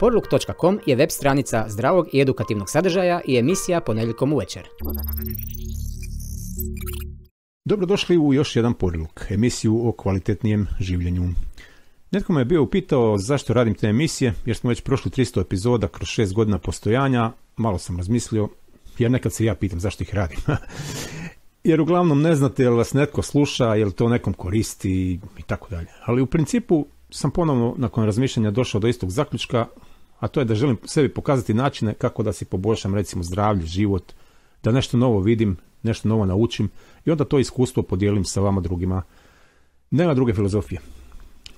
Porluk.com je web stranica zdravog i edukativnog sadržaja i emisija ponedjeljkom uvečer. Dobrodošli u još jedan Porluk, emisiju o kvalitetnijem življenju. Netko me je bio upitao zašto radim te emisije, jer smo već prošli 300 epizoda kroz 6 godina postojanja. Malo sam razmislio, jer nekad se ja pitam zašto ih radim. Jer uglavnom ne znate jel vas netko sluša, jel to nekom koristi i tako dalje. Ali u principu sam ponovno nakon razmišljanja došao do istog zaključka, a to je da želim sebi pokazati načine kako da si poboljšam recimo zdravlje, život, da nešto novo vidim, nešto novo naučim i onda to iskustvo podijelim sa vama drugima. Nema druge filozofije.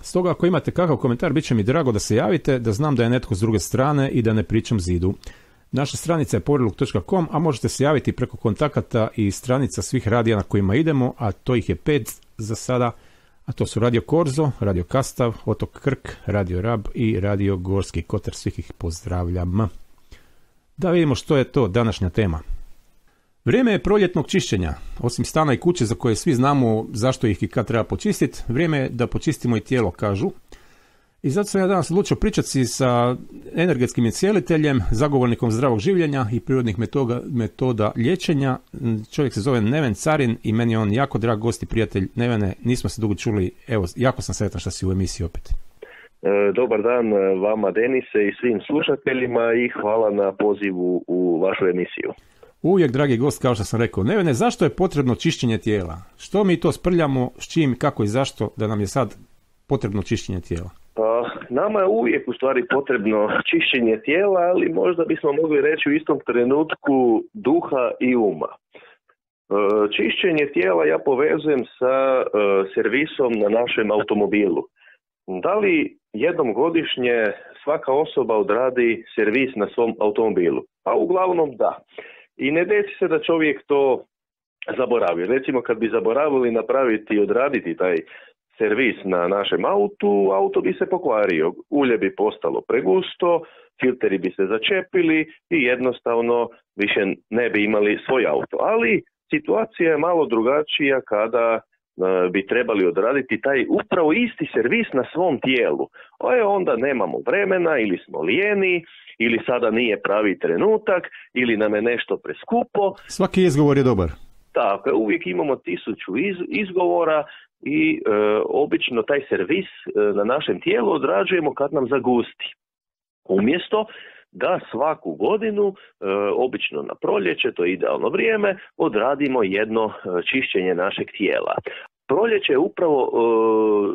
Stoga ako imate kakav komentar, bit će mi drago da se javite, da znam da je netko s druge strane i da ne pričam zidu. Naša stranica je porluk.com, a možete se javiti preko kontakata i stranica svih radija na kojima idemo, a to ih je 5 za sada, a to su Radio Korzo, Radio Kastav, Otok Krk, Radio Rab i Radio Gorski Kotar. Svih ih pozdravljam. Da vidimo što je to današnja tema. Vrijeme je proljetnog čišćenja. Osim stana i kuće za koje svi znamo zašto ih i kad treba počistiti, vrijeme je da počistimo i tijelo, kažu. I zato sam ja danas odlučio pričati sa energetskim iscijeliteljem, zagovornikom zdravog življenja i prirodnih metoda liječenja. Čovjek se zove Neven Carin i meni je on jako drag gost i prijatelj. Nevene, nismo se dugo čuli, evo, jako sam sretan što si u emisiji opet. Dobar dan vama, Denise, i svim slušateljima i hvala na pozivu u vašu emisiju. Uvijek dragi gost, kao što sam rekao. Nevene, zašto je potrebno čišćenje tijela? Što mi to sprljamo, s čim, kako i zašto da nam je sad potrebno čišćenje tijela? Nama je uvijek u stvari potrebno čišćenje tijela, ali možda bismo mogli reći u istom trenutku duha i uma. Čišćenje tijela ja povezujem sa servisom na našem automobilu. Da li jednom godišnje svaka osoba odradi servis na svom automobilu? Pa uglavnom da. I ne desi se da čovjek to zaboravi. Recimo kad bi zaboravili napraviti i odraditi taj servis na našem auto bi se pokvario, ulje bi postalo pregusto, filteri bi se začepili i jednostavno više ne bi imali svoj auto. Ali situacija je malo drugačija kada bi trebali odraditi taj upravo isti servis na svom tijelu. Onda nemamo vremena ili smo lijeni ili sada nije pravi trenutak ili nam je nešto preskupo. Svaki izgovor je dobar. Tako, uvijek imamo 1000 izgovora i obično taj servis na našem tijelu odrađujemo kad nam zagusti. Umjesto da svaku godinu, obično na proljeće, to je idealno vrijeme, odradimo jedno čišćenje našeg tijela. Proljeće je upravo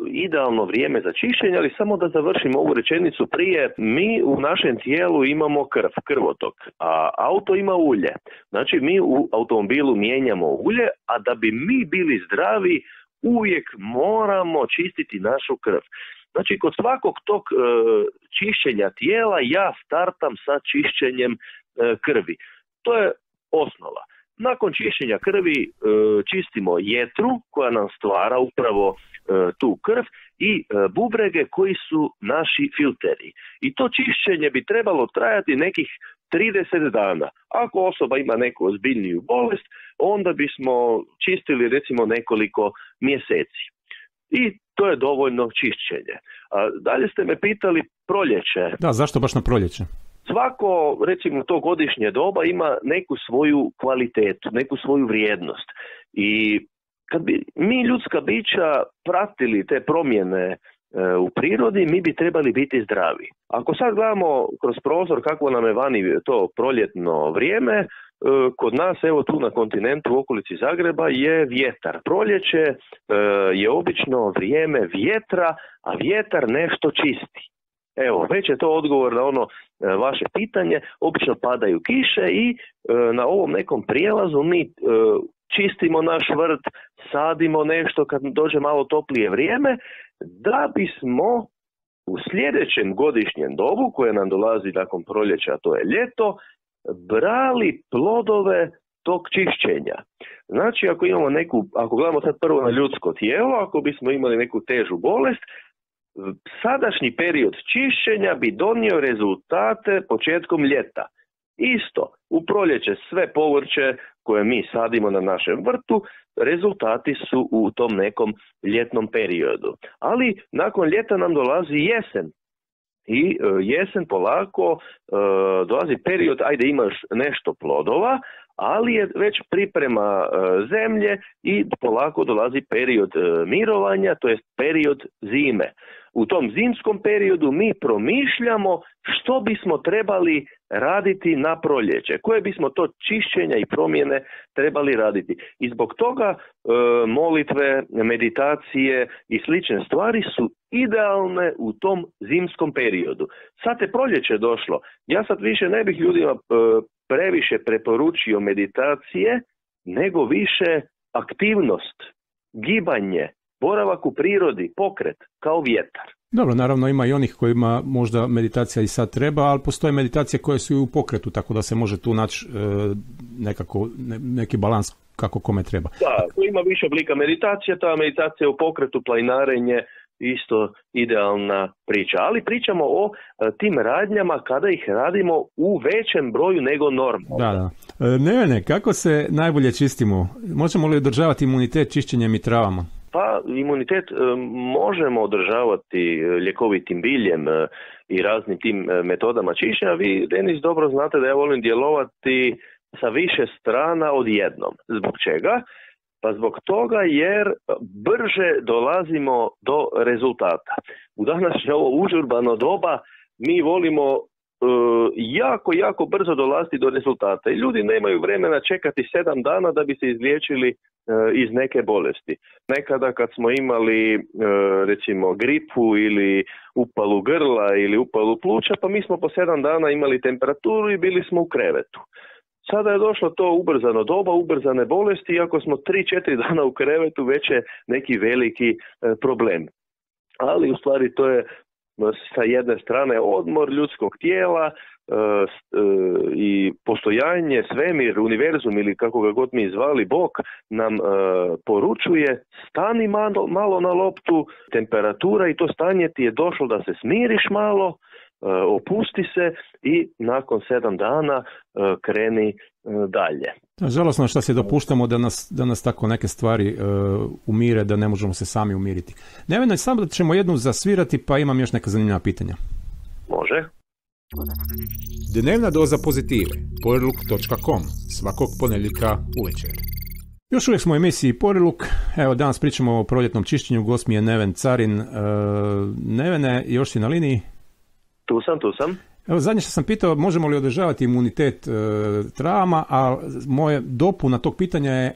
idealno vrijeme za čišćenje, ali samo da završim ovu rečenicu prije. Mi u našem tijelu imamo krvotok, a auto ima ulje. Znači mi u automobilu mijenjamo ulje, a da bi mi bili zdravi uvijek moramo čistiti našu krv. Znači kod svakog tog čišćenja tijela ja startam sa čišćenjem krvi. To je osnova. Nakon čišćenja krvi čistimo jetru koja nam stvara upravo tu krv i bubrege koji su naši filteri. I to čišćenje bi trebalo trajati nekih 30 dana. Ako osoba ima neku ozbiljniju bolest, onda bismo čistili recimo nekoliko mjeseci. I to je dovoljno čišćenje. Dalje ste me pitali proljeće. Da, zašto baš na proljeće? Svako, recimo, to godišnje doba ima neku svoju kvalitetu, neku svoju vrijednost. I kad bi mi ljudska bića pratili te promjene u prirodi, mi bi trebali biti zdravi. Ako sad gledamo kroz prozor kako nam je vani to proljetno vrijeme, kod nas, evo tu na kontinentu u okolici Zagreba je vjetar. Proljeće je obično vrijeme vjetra, a vjetar nešto čisti. Evo, već je to odgovor na ono vaše pitanje. Obično padaju kiše i na ovom nekom prijelazu mi čistimo naš vrt, sadimo nešto kad dođe malo toplije vrijeme, da bismo u sljedećem godišnjem dobu, koje nam dolazi nakon proljeća, a to je ljeto, brali plodove tog čišćenja. Znači, ako gledamo sad prvo na ljudsko tijelo, ako bismo imali neku težu bolest, sadašnji period čišćenja bi donio rezultate početkom ljeta. Isto, u proljeće sve povrće koje mi sadimo na našem vrtu, rezultati su u tom nekom ljetnom periodu. Ali nakon ljeta nam dolazi jesen. i jesen polako dolazi period, ajde imaš nešto plodova, ali je već priprema zemlje i polako dolazi period mirovanja, to jest period zime. U tom zimskom periodu mi promišljamo što bismo trebali raditi na proljeće, koje bismo to čišćenja i promjene trebali raditi. I zbog toga molitve, meditacije i slične stvari su idealne u tom zimskom periodu. Sad je proljeće došlo, ja sad više ne bih ljudima previše preporučio meditacije, nego više aktivnost, gibanje, boravak u prirodi, pokret, kao vjetar. Dobro, naravno ima i onih kojima možda meditacija i sad treba, ali postoje meditacije koje su i u pokretu, tako da se može tu naći neki balans kako kome treba. Da, tu ima više oblika meditacije, ta meditacija u pokretu, planinarenje, isto idealna priča. Ali pričamo o tim radnjama kada ih radimo u većem broju nego normalno. Da. Nevene, kako se najbolje čistimo? Možemo li održavati imunitet čišćenjem i travama? Pa imunitet možemo održavati ljekovitim biljem i raznim tim metodama čišćenja. Vi, Denis, dobro znate da ja volim djelovati sa više strana odjednom. Zbog čega? Pa zbog toga jer brže dolazimo do rezultata. U današnje ovo užurbano doba mi volimo jako brzo dolaziti do rezultata. I ljudi nemaju vremena čekati 7 dana da bi se izliječili iz neke bolesti. Nekada kad smo imali recimo gripu ili upalu grla ili upalu pluća, pa mi smo po 7 dana imali temperaturu i bili smo u krevetu. Sada je došlo to ubrzano doba, ubrzane bolesti, iako smo 3-4 dana u krevetu, već je neki veliki problem. Ali u stvari to je sa jedne strane odmor ljudskog tijela i postojanje, svemir, univerzum ili kako ga god mi zvali, Bog nam poručuje stani malo na loptu, temperatura i to stanje ti je došlo da se smiriš malo, opusti se i nakon 7 dana kreni dalje. Žalosno što se dopuštamo da nas tako neke stvari umire, da ne možemo se sami umiriti. Nevena, samo da ćemo jednu zasvirati, pa imam još neka zanimljiva pitanja. Može. Dnevna doza pozitive. Poriluk.com. Svakog ponedjeljka uvečer. Još uvijek smo u emisiji Poriluk. Evo, danas pričamo o proljetnom čišćenju. Gost mi je Neven Carin. Nevene, još si na liniji? Tu sam. Evo, zadnje što sam pitao, možemo li održavati imunitet travama, a moje dopuna tog pitanja je,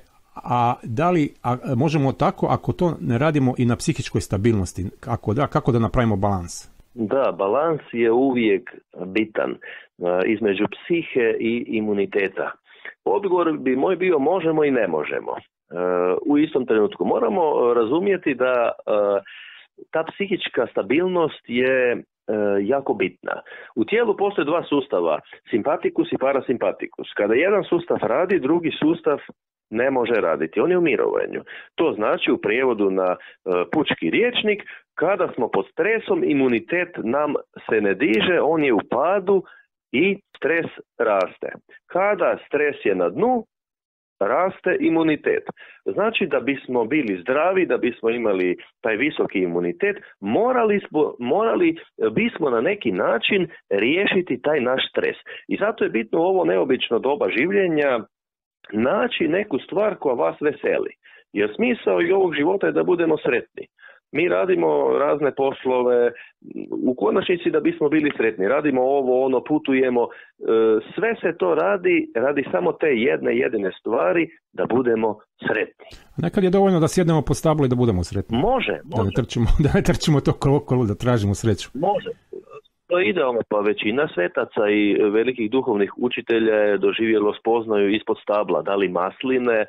da li možemo tako ako to ne radimo i na psihičkoj stabilnosti? Ako da, kako da napravimo balans? Da, balans je uvijek bitan između psihe i imuniteta. Odgovor bi moj bio možemo i ne možemo. U istom trenutku moramo razumjeti da ta psihička stabilnost je jako bitna. U tijelu postoje 2 sustava, simpatikus i parasimpatikus. Kada jedan sustav radi, drugi sustav ne može raditi. On je u mirovanju. To znači u prijevodu na pučki rječnik, kada smo pod stresom, imunitet nam se ne diže, on je u padu i stres raste. Kada stres je na dnu, raste imunitet. Znači da bismo bili zdravi, da bismo imali taj visoki imunitet, morali bismo na neki način riješiti taj naš stres. I zato je bitno u ovo neobično doba življenja naći neku stvar koja vas veseli. Jer smisao i ovog života je da budemo sretni. Mi radimo razne poslove, u konačnici da bismo bili sretni. Radimo ovo, ono, putujemo. Sve se to radi samo te jedine stvari da budemo sretni. Nekad je dovoljno da sjednemo po stablu i da budemo sretni. Može. Da ne trčimo to kolo, da tražimo sreću. Može. To je idealno, pa većina svetaca i velikih duhovnih učitelja je doživjelo spoznaju ispod stabla, da li masline,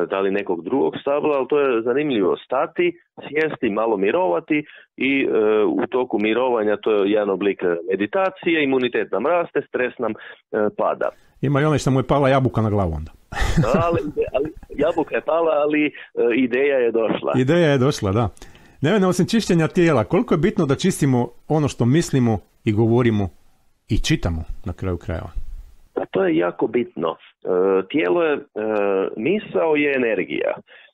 da li nekog drugog stabla, ali to je zanimljivo, stati, sjesti, malo mirovati i u toku mirovanja to je jedan oblik meditacije, imunitet nam raste, stres nam pada. Ima i onaj što mu je pala jabuka na glavu onda. ali jabuka je pala, ali ideja je došla. Ideja je došla, da. Nevena, osim čišćenja tijela, koliko je bitno da čistimo ono što mislimo i govorimo i čitamo na kraju krajeva? To je jako bitno. Tijelo je, misao je energija.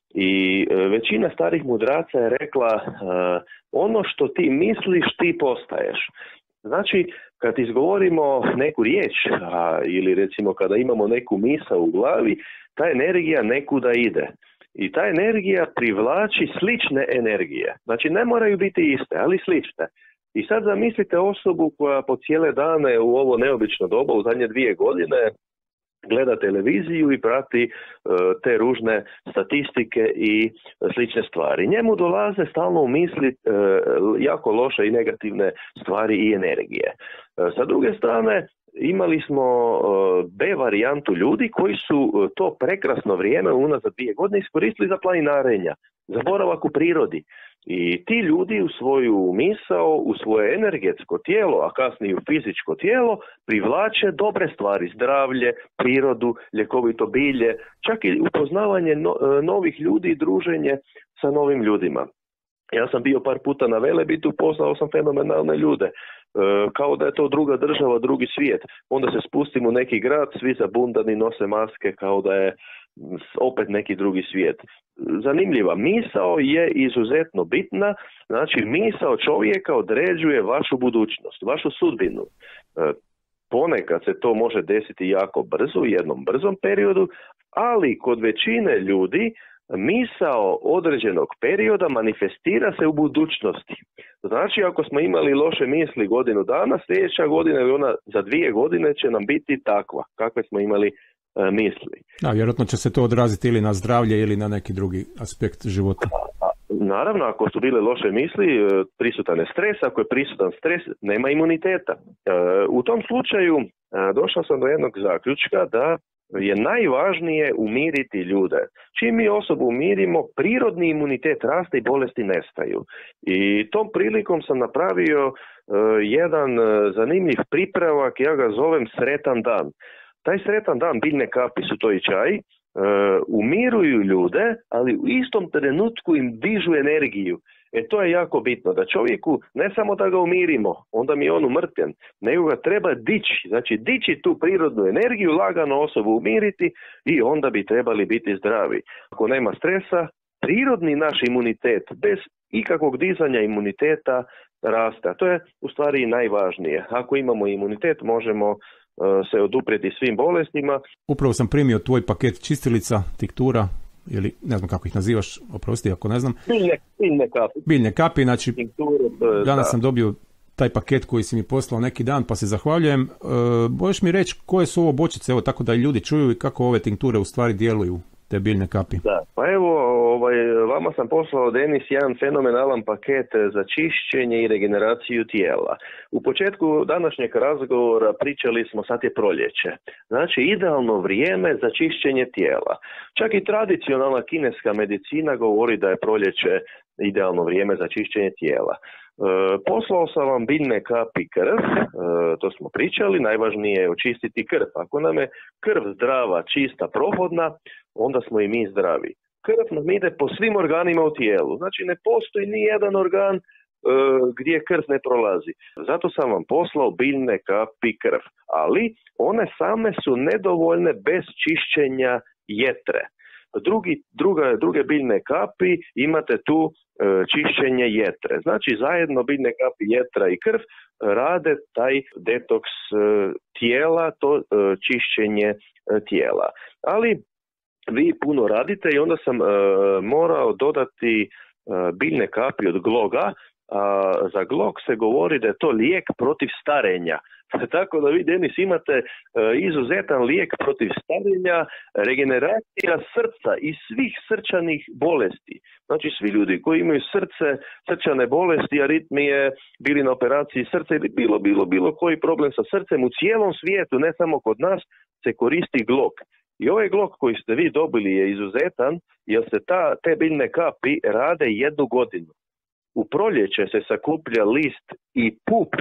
I većina starih mudraca je rekla ono što ti misliš ti postaješ. Znači, kad izgovorimo neku riječ ili recimo kada imamo neku misao u glavi, ta energija nekuda ide. I ta energija privlači slične energije. Znači, ne moraju biti iste, ali slične. I sad zamislite osobu koja po cijele dane u ovo neobično doba, u zadnje 2 godine, gleda televiziju i prati te ružne statistike i slične stvari. Njemu dolaze stalno u misli jako loše i negativne stvari i energije. Sa druge strane, imali smo B varijantu ljudi koji su to prekrasno vrijeme unazad 2 godine iskoristili za planinarenja, za boravak u prirodi. I ti ljudi u svoju misao, u svoje energetsko tijelo, a kasnije u fizičko tijelo, privlače dobre stvari, zdravlje, prirodu, ljekovito bilje, čak i upoznavanje novih ljudi i druženje sa novim ljudima. Ja sam bio par puta na Velebitu, poznao sam fenomenalne ljude, kao da je to druga država, drugi svijet. Onda se spustim u neki grad, svi zabundani, nose maske kao da je opet neki drugi svijet. Zanimljiva. Misao je izuzetno bitna, znači misao čovjeka određuje vašu budućnost, vašu sudbinu. Ponekad se to može desiti jako brzo, u jednom brzom periodu, ali kod većine ljudi misao određenog perioda manifestira se u budućnosti. Znači, ako smo imali loše misli godinu dana, sljedeća godina ili ona za 2 godine će nam biti takva, kakve smo imali misli. Da, vjerojatno će se to odraziti ili na zdravlje ili na neki drugi aspekt života. Naravno, ako su bile loše misli, prisutan je stres, ako je prisutan stres, nema imuniteta. U tom slučaju došao sam do jednog zaključka da je najvažnije umiriti ljude. Čim mi osobu umirimo, prirodni imunitet raste i bolesti nestaju. I tom prilikom sam napravio jedan zanimljiv pripravak, ja ga zovem sretan dan. Taj sretan dan, biljne kapi su to i čaj, umiruju ljude, ali u istom trenutku im dižu energiju. To je jako bitno, da čovjeku ne samo da ga umirimo, onda mi je on umrtven, nego ga treba dići, znači dići tu prirodnu energiju, lagano osobu umiriti i onda bi trebali biti zdravi. Ako nema stresa, prirodni naš imunitet, bez ikakvog dizanja imuniteta raste. To je u stvari najvažnije. Ako imamo imunitet, možemo se oduprijeti svim bolestima. Upravo sam primio tvoj paket čistilica, tiktura, ili ne znam kako ih nazivaš, oprosti ako ne znam. Biljne kapi. Biljne kapi, znači danas sam dobio taj paket koji si mi poslao neki dan, pa se zahvaljujem. Možeš mi reći koje su ovo bočice, evo tako da i ljudi čuju i kako ove tinkture u stvari djeluju, te biljne kapi? Da, pa evo, vama sam poslao, Denis, jedan fenomenalan paket za čišćenje i regeneraciju tijela. U početku današnjeg razgovora pričali smo, sad je proljeće. Znači, idealno vrijeme za čišćenje tijela. Čak i tradicionalna kineska medicina govori da je proljeće idealno vrijeme za čišćenje tijela. Poslao sam vam biljne kapi krv, to smo pričali, najvažnije je očistiti krv. Ako nam je krv zdrava, čista, prohodna, onda smo i mi zdravi. Krv nam ide po svim organima u tijelu, znači ne postoji ni jedan organ gdje krv ne prolazi. Zato sam vam poslao biljne kapi krv, ali one same su nedovoljne bez čišćenja jetre. Druge biljne kapi imate tu čišćenje jetre. Znači zajedno biljne kapi, jetra i krv rade taj detoks tijela, to čišćenje tijela. Ali vi puno radite i onda sam morao dodati biljne kapi od gloga. Za glog se govori da je to lijek protiv starenja. Tako da vi, Denis, imate izuzetan lijek protiv starenja, regeneracija srca i svih srčanih bolesti. Znači svi ljudi koji imaju srčane bolesti, aritmije, bili na operaciji srca ili bilo koji problem sa srcem u cijelom svijetu, ne samo kod nas, se koristi glog. I ovaj glog koji ste vi dobili je izuzetan jer se te biljne kapi rade 1 godinu. U proljeće se sakuplja list i pup,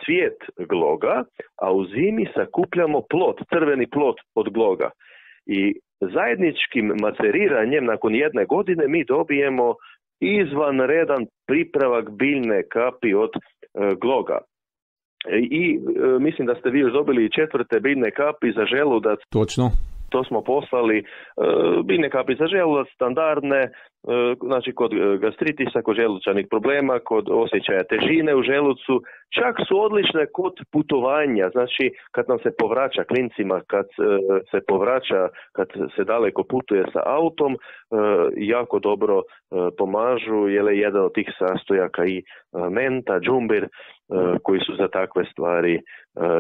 cvijet gloga, a u zimi sakupljamo plod, crveni plod od gloga. I zajedničkim maceriranjem nakon 1 godine mi dobijemo izvanredan pripravak biljne kapi od gloga. I mislim da ste vi još dobili 4. biljne kapi za želudac. Točno. To smo poslali biljne kapi za želudac, standardne, znači kod gastritisa, kod želučanih problema, kod osjećaja težine u želucu. Čak su odlične kod putovanja, znači kad nam se povraća klincima, kad se povraća, kad se daleko putuje sa autom, jako dobro pomažu, jer je jedan od tih sastojaka i menta, džumbir, koji su za takve stvari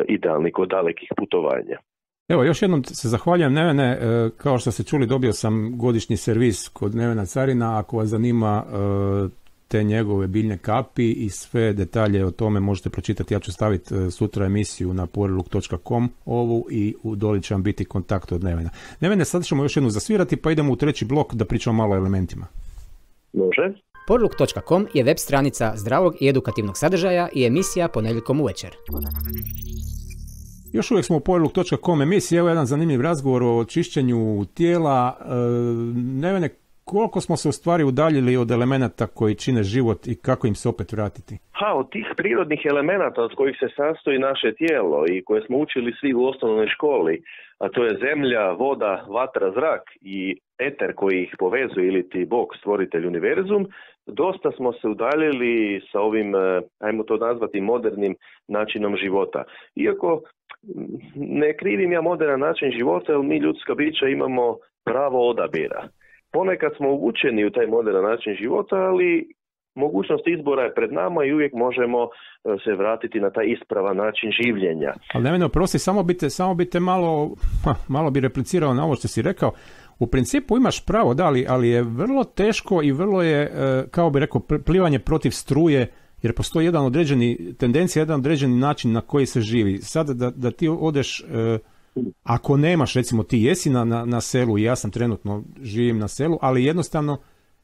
idealni kod dalekih putovanja. Evo, još jednom se zahvaljujem Nevene, kao što ste čuli dobio sam godišnji servis kod Nevena Carina, ako vas zanima te njegove biljne kapi i sve detalje o tome možete pročitati, ja ću staviti sutra emisiju na powerlook.com ovu i u doli će vam biti kontakt od Nevena. Nevene, sad ćemo još jednu zasvirati pa idemo u treći blok da pričamo malo o elementima. Može. Powerlook.com je web stranica zdravog i edukativnog sadržaja i emisija ponedjeljkom uvečer. Još uvijek smo u powerlook.com emisiji, evo jedan zanimljiv razgovor o čišćenju tijela. Nevene, koliko smo se u stvari udaljili od elemenata koji čine život i kako im se opet vratiti? Od tih prirodnih elemenata od kojih se sastoji naše tijelo i koje smo učili svi u osnovnoj školi, a to je zemlja, voda, vatra, zrak i eter koji ih povezuje ili ti Bog, stvoritelj univerzum, dosta smo se udaljili sa ovim, ajmo to nazvati, modernim načinom života. Iako ne krivim ja modern način života, jer mi ljudska bića imamo pravo odabira. Ponekad smo uvučeni u taj modern način života, ali mogućnost izbora je pred nama i uvijek možemo se vratiti na taj ispravan način življenja. Ali Neveno, prosti, samo bi te malo bi replicirao na ovo što si rekao. U principu imaš pravo, da, ali je vrlo teško i vrlo je, kao bi rekao, plivanje protiv struje, jer postoji jedan određeni način na koji se živi. Sad da ti odeš, ako nemaš, recimo ti jesi na selu i ja sam trenutno živim na selu, ali jednostavno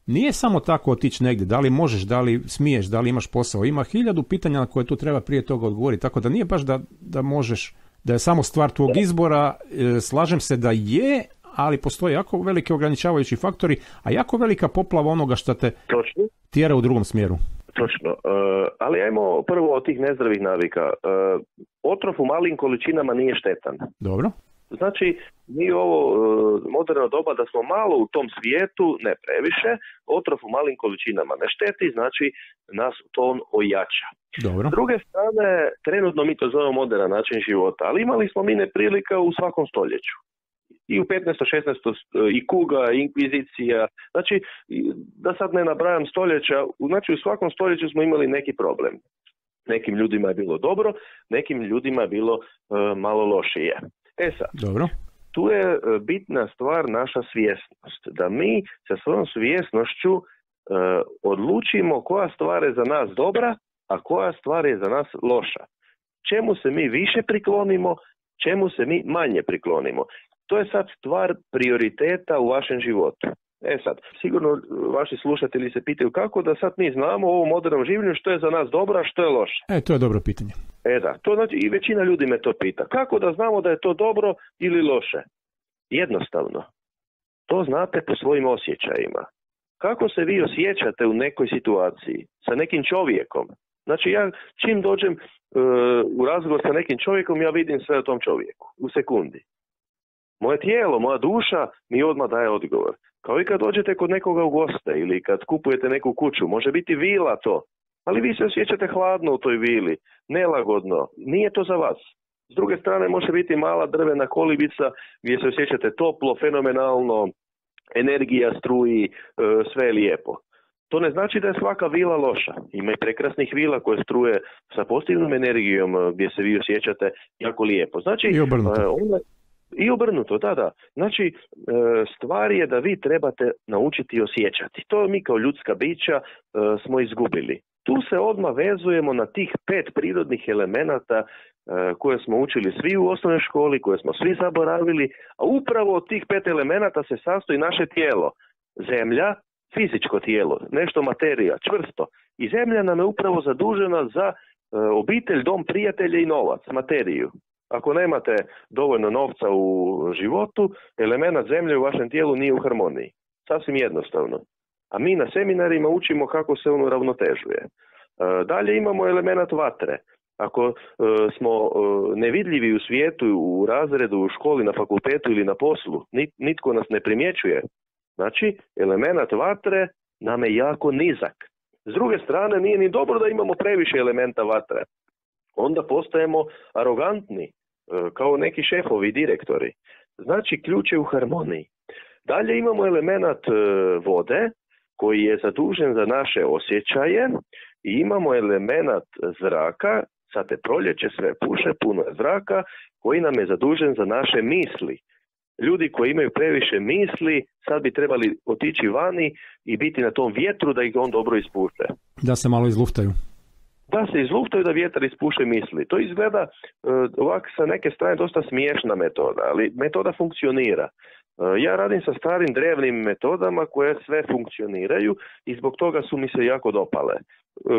nije samo tako otići negdje, da li možeš, da li smiješ, da li imaš posao. Ima 1000 pitanja na koje tu treba prije toga odgovoriti, tako da nije baš da možeš, da je samo stvar tvog izbora. Slažem se da je, ali postoje jako velike ograničavajući faktori, a jako velika poplava onoga što te tjera u drugom smjeru. Točno, ali ajmo prvo od tih nezdravih navika. Otrov u malim količinama nije štetan. Dobro. Znači, mi ovo moderno doba da smo malo u tom svijetu, ne previše, otrov u malim količinama ne šteti, znači nas to on ojača. Dobro. S druge strane, trenutno mi to zovemo moderan način života, ali imali smo mi neprilika u svakom stoljeću. I u 15. 16. i kuga, i inkvizicija, znači da sad ne nabrajam stoljeća, znači u svakom stoljeću smo imali neki problem. Nekim ljudima je bilo dobro, nekim ljudima je bilo malo lošije. Sad, dobro. Tu je bitna stvar naša svjesnost, da mi sa svojom svjesnošću odlučimo koja stvar je za nas dobra, a koja stvar je za nas loša. Čemu se mi više priklonimo, čemu se mi manje priklonimo. To je sad stvar prioriteta u vašem životu. Sad, sigurno vaši slušatelji se pitaju kako da sad mi znamo u ovom modernom življenju što je za nas dobro, a što je loše. To je dobro pitanje. Da, to znači i većina ljudi me to pita. Kako da znamo da je to dobro ili loše? Jednostavno. To znate po svojim osjećajima. Kako se vi osjećate u nekoj situaciji sa nekim čovjekom? Znači ja čim dođem u razgovor sa nekim čovjekom, ja vidim sve o tom čovjeku u sekundi. Moje tijelo, moja duša mi odmah daje odgovor. Kao i kad dođete kod nekoga u goste ili kad kupujete neku kuću, može biti vila to, ali vi se osjećate hladno u toj vili, nelagodno, nije to za vas. S druge strane može biti mala drvena kolibica gdje se osjećate toplo, fenomenalno, energija struji, sve je lijepo. To ne znači da je svaka vila loša. Ima i prekrasnih vila koje struje sa pozitivnom energijom gdje se vi osjećate jako lijepo. Znači, I obrnuto, da. Znači, stvar je da vi trebate naučiti osjećati. To mi kao ljudska bića smo izgubili. Tu se odmah vezujemo na tih 5 prirodnih elemenata koje smo učili svi u osnovnoj školi, koje smo svi zaboravili, a upravo od tih 5 elemenata se sastoji naše tijelo. Zemlja, fizičko tijelo, nešto materija, čvrsto. I zemlja nam je upravo zadužena za obitelj, dom, prijatelje i novac, materiju. Ako nemate dovoljno novca u životu, element zemlje u vašem tijelu nije u harmoniji. Sasvim jednostavno. A mi na seminarima učimo kako se on uravnotežuje. Dalje imamo element vatre. Ako smo nevidljivi u svijetu, u razredu, u školi, na fakultetu ili na poslu, nitko nas ne primjećuje. Znači, element vatre nam je jako nizak. S druge strane, nije ni dobro da imamo previše elementa vatre. Onda postajemo arogantni, kao neki šefovi, direktori. Znači, ključ je u harmoniji. Dalje imamo element vode, koji je zadužen za naše osjećaje, i imamo element zraka, sad je proljeće, sve puše, puno je zraka, koji nam je zadužen za naše misli. Ljudi koji imaju previše misli, sad bi trebali otići vani i biti na tom vjetru da ih on dobro ispuše. Da se malo izluftaju. Da se izluftaju, da vjetar ispuše misli. To izgleda ovak sa neke strane dosta smiješna metoda, ali metoda funkcionira. Ja radim sa starim drevnim metodama koje sve funkcioniraju i zbog toga su mi se jako dopale.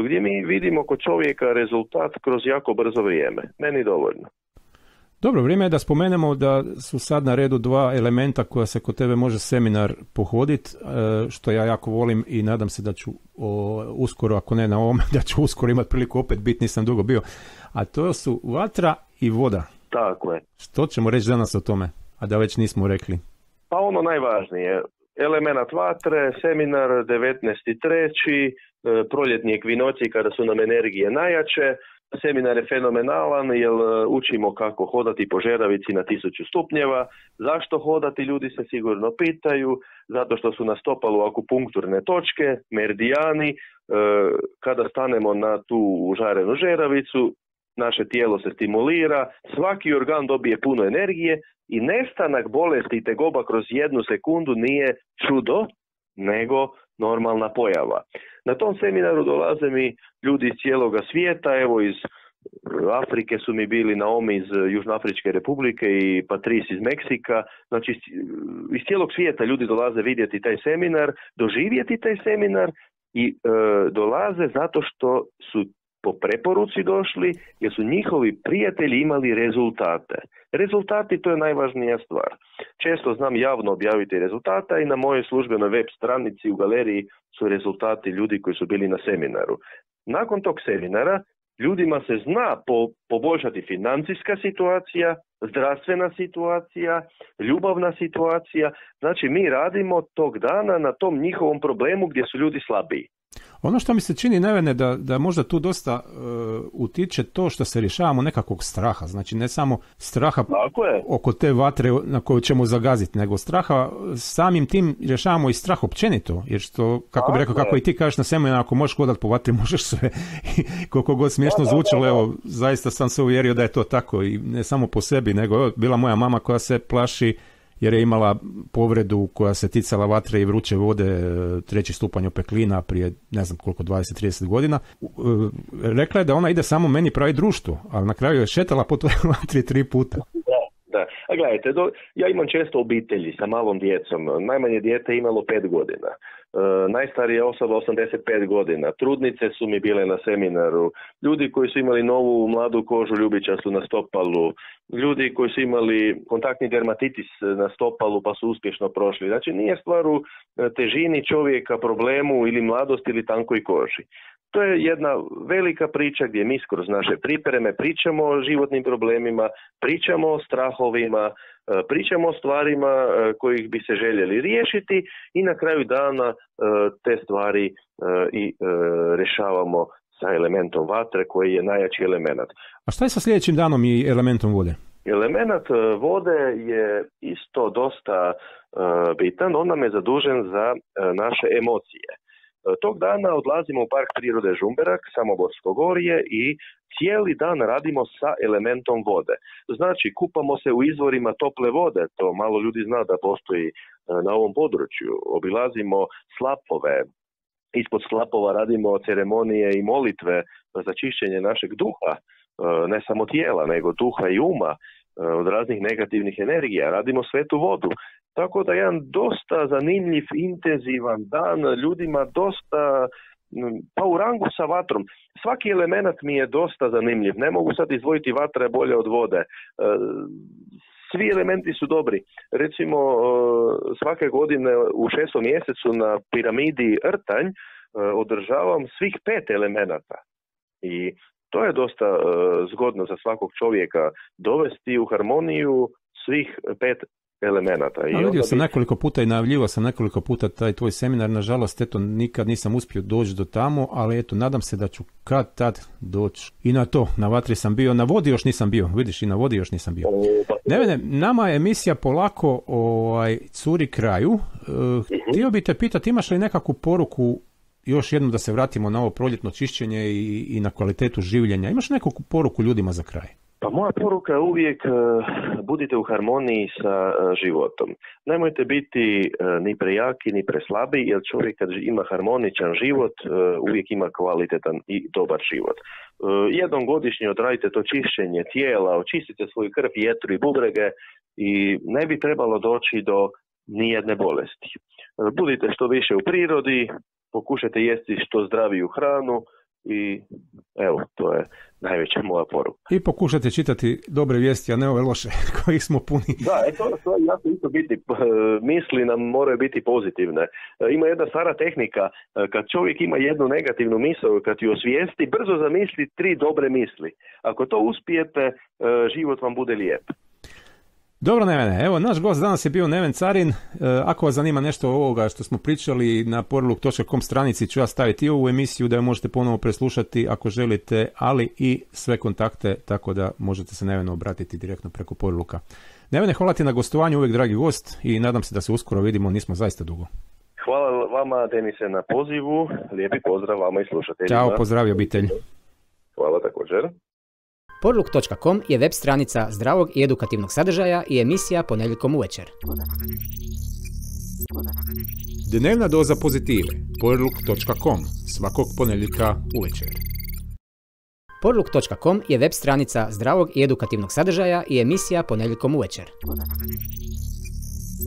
Gdje mi vidimo kod čovjeka rezultat kroz jako brzo vrijeme. Meni dovoljno. Dobro, vrijeme je da spomenemo da su sad na redu dva elementa koja se kod tebe može seminar pohoditi, što ja jako volim i nadam se da ću uskoro, ako ne na ovome, da ću uskoro imati priliku opet biti, nisam dugo bio. A to su vatra i voda. Tako je. Što ćemo reći danas o tome, a da već nismo rekli? Pa ono najvažnije, element vatre, seminar 19.3., proljetni ekvinoći kada su nam energije najjače. Seminar je fenomenalan jer učimo kako hodati po žeravici na 1000 stupnjeva. Zašto hodati, ljudi se sigurno pitaju. Zato što su na stopalu akupunkturne točke, meridijani. Kada stanemo na tu užarenu žeravicu, naše tijelo se stimulira, svaki organ dobije puno energije i nestanak bolesti i tegoba kroz 1 sekundu nije čudo, nego normalna pojava. Na tom seminaru dolaze mi ljudi iz cijeloga svijeta, evo iz Afrike su mi bili Naomi iz Južnoafričke republike i Patrice iz Meksika. Znači iz cijelog svijeta ljudi dolaze vidjeti taj seminar, doživjeti taj seminar i dolaze zato što su po preporuci došli jer su njihovi prijatelji imali rezultate. Rezultati, to je najvažnija stvar. Često znam javno objaviti rezultata i na mojoj službenoj web stranici u galeriji su rezultati ljudi koji su bili na seminaru. Nakon tog seminara ljudima se zna poboljšati financijska situacija, zdravstvena situacija, ljubavna situacija. Znači mi radimo tog dana na tom njihovom problemu gdje su ljudi slabiji. Ono što mi se čini, Nevene, da možda tu dosta utiče to što se rješavamo nekakvog straha. Znači ne samo straha oko te vatre na koju ćemo zagaziti, nego straha samim tim rješavamo i strah općenito. Jer što, kako bi rekao, kako i ti kažeš na seminaru, ako možeš hodati po vatri, možeš sve. Koliko god smiješno zvučalo, evo, zaista sam se uvjerio da je to tako. I ne samo po sebi, nego evo, bila moja mama koja se plaši jer je imala povredu koja se ticala vatre i vruće vode, 3. stupanj opeklina prije ne znam koliko, 20-30 godina. Rekla je da ona ide samo meni pravi društvo, ali na kraju je šetala po toj vatri 3 puta. Da. A gledajte, ja imam često obitelji sa malom djecom. Najmanje dijete je imalo 5 godina. Najstarija osoba 85 godina. Trudnice su mi bile na seminaru. Ljudi koji su imali novu mladu kožu ljubičastu na stopalu. Ljudi koji su imali kontaktni dermatitis na stopalu pa su uspješno prošli. Znači nije stvar u težini čovjeka, problemu ili mladosti ili tankoj koži. To je jedna velika priča gdje mi kroz naše pripreme pričamo o životnim problemima, pričamo o strahovima, pričamo o stvarima kojih bi se željeli riješiti i na kraju dana te stvari i rješavamo sa elementom vatre koji je najjači element. A šta je sa sljedećim danom i elementom vode? Element vode je isto dosta bitan, on nam je zadužen za naše emocije. Tog dana odlazimo u Park prirode Žumberak, Samoborsko gorje i cijeli dan radimo sa elementom vode. Znači, kupamo se u izvorima tople vode, to malo ljudi zna da postoji na ovom području. Obilazimo slapove, ispod slapova radimo ceremonije i molitve za čišćenje našeg duha, ne samo tijela, nego duha i uma od raznih negativnih energija. Radimo svetu vodu. Tako da jedan dosta zanimljiv, intenzivan dan, ljudima dosta, pa u rangu sa vatrom. Svaki element mi je dosta zanimljiv. Ne mogu sad izdvojiti vatra je bolje od vode. Svi elementi su dobri. Recimo, svake godine u 6. mjesecu na piramidi Rtanj održavam svih 5 elemenata. I To je dosta zgodno za svakog čovjeka dovesti u harmoniju svih 5 elemenata. A vidio sam nekoliko puta i najavljivao sam nekoliko puta taj tvoj seminar, nažalost, eto, nikad nisam uspio doći do tamo, ali eto, nadam se da ću kad tad doći i na to. Na vatri sam bio, na vodi još nisam bio, vidiš, i na vodi još nisam bio. Ne, nama je emisija polako curi kraju. Htio bi te pitati, imaš li nekakvu poruku, još jednom da se vratimo na ovo proljetno čišćenje i na kvalitetu življenja, imaš neku poruku ljudima za kraj? Pa moja poruka je uvijek budite u harmoniji sa životom. Nemojte biti ni prejaki ni preslabi, jer čovjek kad ima harmoničan život uvijek ima kvalitetan i dobar život. Jednom godišnje odradite to čišćenje tijela, očistite svoju krv, jetru i bubrege i ne bi trebalo doći do nijedne bolesti. Budite što više u prirodi, pokušajte jesti što zdraviju hranu, i evo, to je najveća moja poruka. I pokušajte čitati dobre vijesti, a ne ove loše kojih smo puni. Da, to je jako isto biti. Misli nam moraju biti pozitivne. Ima jedna stara tehnika, kad čovjek ima jednu negativnu misao, kad ju osvijesti, brzo zamisli 3 dobre misli. Ako to uspijete, život vam bude lijep. Dobro, Nevene, evo, naš gost danas je bio Neven Carin. Ako vas zanima nešto ovoga što smo pričali, na porluk.com stranici ću ja staviti i ovu emisiju da ju možete ponovo preslušati ako želite, ali i sve kontakte, tako da možete se Nevenu obratiti direktno preko Porluka. Nevene, hvala ti na gostovanju, uvijek dragi gost, i nadam se da se uskoro vidimo, nismo zaista dugo. Hvala vama, Denise, na pozivu. Lijepi pozdrav vama i slušateljima. Ćao, pozdravi obitelj. Hvala također. Porluk.com je web stranica zdravog i edukativnog sadržaja i emisija ponedjeljkom uvečer. Dnevna doza pozitive. Porluk.com. Svakog ponedjeljka uvečer. Porluk.com je web stranica zdravog i edukativnog sadržaja i emisija ponedjeljkom uvečer.